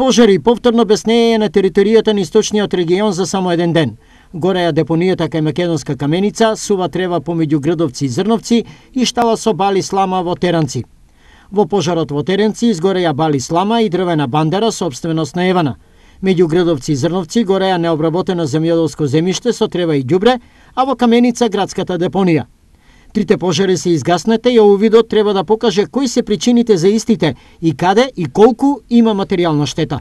пожари повторно беснеење на територијата на источниот регион за само еден ден. Гореја депонијата кај Македонска каменица, сува трева помеѓу Грдовци и Зрновци и штала со бали слама во Теранци. Во пожарот во Теренци изгореја бали слама и дрвена бандера собственост на Евана. Меѓу Грдовци и Зрновци гореја необработено земјоделско земјиште со трева и ѓубре, а во Каменица градската депонија. Трите пожари се изгаснете и овој видот треба да покаже кои се причините за истите и каде и колку има материјална штета.